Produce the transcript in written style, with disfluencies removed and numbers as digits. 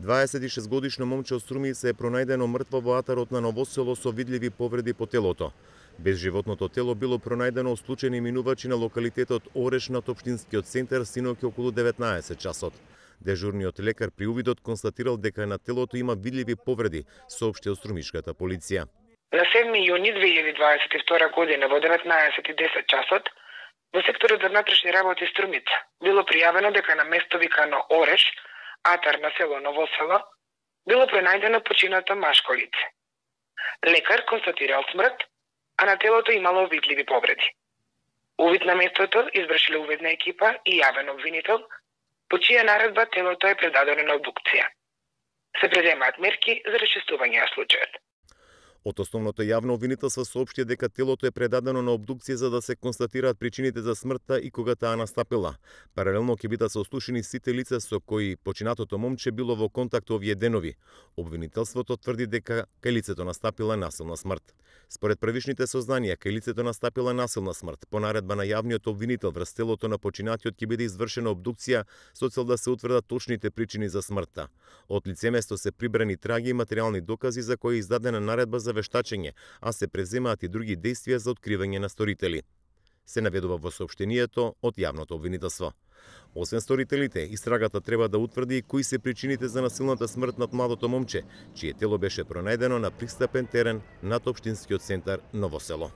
26-годишно момче од Струмица е пронајдено мртво во атарот на Новосело со видливи повреди по телото. Безживотното тело било пронајдено од случајни минувачи на локалитетот Ореш над општинскиот центар синоќ околу 19 часот. Дежурниот лекар при увидот констатирал дека на телото има видливи повреди, соопшти од струмишката полиција. На 7 јуни 2022 година во 19:10 часот во секторот за внатрешни работи Струмица било пријавено дека на место викано Ореш, атар на село Новосело, било пронајдено починато машко лице. Лекар констатирал смрт, а на телото имало видливи повреди. Увид на местото извршиле увидна екипа и јавен обвинител, по чија наредба телото е предадено на обдукција. Се преземаат мерки за расчистување на случајот. Од основното јавно обвинителство соопшти дека телото е предадено на обдукција за да се констатираат причините за смртта и кога таа настапила. Паралелно ќе бидат сослушани сите лица со кои починатото момче било во контакт овие денови. Обвинителството тврди дека кај лицето настапила насилна смрт. Според првичните сознанија, кај лицето настапила насилна смрт. По наредба на јавниот обвинител врз телото на починатиот ќе биде извршена обдукција со цел да се утврдат точните причини за смртта. Од лицеместо се прибрани траги и материјални докази за кои е издадена наредба за вештачење, а се преземаат и други действија за откривање на сторители. Се наведува во соопштението од јавното обвинителство. Освен сторителите, истрагата треба да утврди и кои се причините за насилната смрт над младото момче, чие тело беше пронајдено на пристапен терен над општинскиот центар Новосело.